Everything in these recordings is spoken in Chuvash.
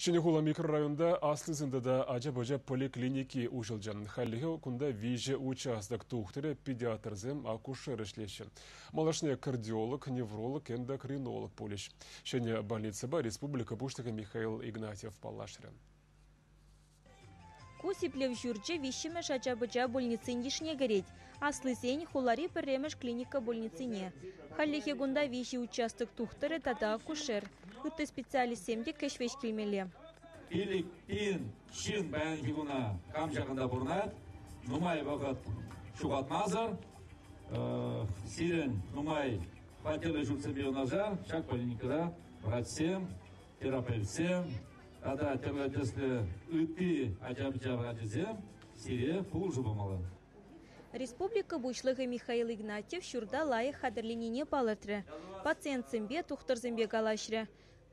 Ҫӗнӗ хула микрорайонта аслисен тата ача-пӑча поликлиники уҫӑлчӗ. Хальлӗхе кунта виҫӗ участок тухтӑрӗ, педиатрсем, акушер ӗҫлеҫҫӗ. Малашне кардиолог, невролог, эндокринолог пулӗҫ. Ҫӗнӗ больницӑпа республика Пуҫлӑхӗ Михаил Игнатьев паллашрӗ. Ку сиплев ҫурчӗ виҫҫӗмӗш ача-пӑча больницин йышне кӗрет. Аслисен хулари пӗрремӗш клиника больницине. Хальлӗхе кунта виҫӗ участок тухтӑрӗ тата акушер. Ытти специалистсем те кӗҫ-вӗҫ килмелле. 5000 ҫын паянхи куна кам ҫакӑнта пурӑнать, нумай вӑхӑт ҫухатмасӑр сирӗн нумай хваттерлӗ ҫуртсемпе юнашар ҫак поликлиникӑра врачсем, терапевтсем тата тӗрлӗ тӗслӗ ытти ача-пӑча врачӗсем сире пулӑшу памалла. Республика Пуҫлӑхӗ Михаил Игнатьев ҫурта лайӑх хатӗрленине палӑртрӗ. Пациентсемпе, тухтӑрсемпе калаҫрӗ.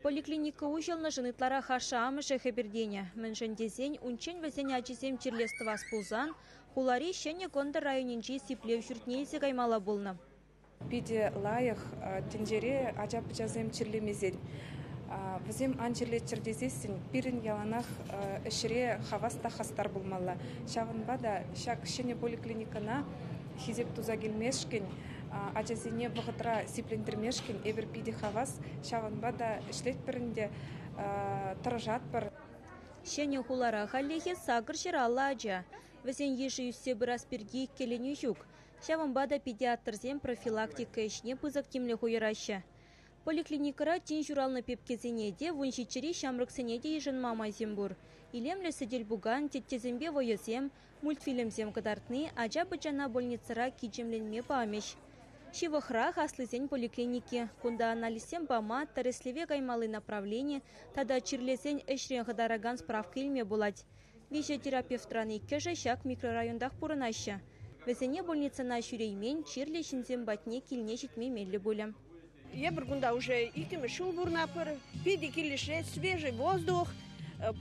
Поликлиника уҫӑлнӑшӑн ытларах ашшӗ-амӑшӗ хӗпӗртенӗ. Мӗншӗн тесен унччен вӗсен ачисем чирлес тӑвас пулсан хулари Ҫӗнӗ Кӑнтӑр районӗнчи сиплев ҫуртне илсе каймалла пулнӑ. Питӗ лайӑх тӗнчере ача-пӑчасем чирлемесен, вӗсем ан чирлеччӗр тесессӗн пирӗн яланах ӗҫре хавас та хастар пулмалла. Ҫавӑнпа та ҫак ҫӗнӗ поликлиникӑна хисеп туса килмешкӗн, ачасене вӑхӑтра сиплентермешкӗн эпир питӗ хавас. Ҫавӑнпа та ӗҫлетпӗр ӗнтӗ, тӑрӑшатпӑр. Ҫӗнӗ хулара хальлӗхе 850 ача. Вӗсен йышӗ ӳссе пырас пирки иккӗленӳ ҫук. Ҫавӑнпа та педиатрсем профилактика ӗҫне пысӑк тимлӗх уйӑраҫҫӗ. Поликлиникӑра тин ҫуралнӑ пепкесене те, 17-ри ҫамрӑксене те йышӑнма майсем пур. Илемлӗ сӗтел-пукан, теттесемпе вӑйӑсем, мультфильмсем кӑтартни ача-пӑчана больницӑра кичемленме памӗҫ. Ҫывӑхрах аслисен поликлиники. Кунта анализсем пама, тӗрӗслеве каймалли направлени тата чирлесен ӗҫрен хӑтаракан справка илме пулать. Виҫӗ терапевтран иккӗшӗ ҫак микрорайонтах пурӑнаҫҫӗ. Вӗсене больницӑна ҫӳреймен чирлӗ ҫынсем патне килне ҫитме меллӗ пулӗ. Эпир кунта уже иккӗмӗш ҫул пурӑнатпӑр. Питӗ килӗшет, свежий воздух,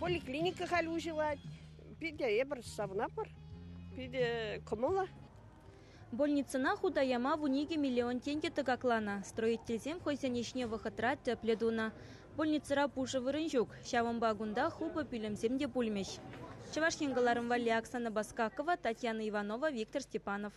поликлиника халь уҫӑлать. Питӗ эпир савӑнатпӑр, питӗ кӑмӑллӑ. Больницӑна хута яма 12 миллион тенкӗ тӑкакланӑ. Строительсем хӑйсен ӗҫне вӑхӑтра тӗплӗ тунӑ. Больницӑра пушӑ вырӑн ҫук, ҫавӑнпа кунта хупӑ пӳлӗмсем те пулмӗҫ. Чӑваш Ен кӑларӑм валли Оксана Баскакова, Татьяна Иванова, Виктор Степанов.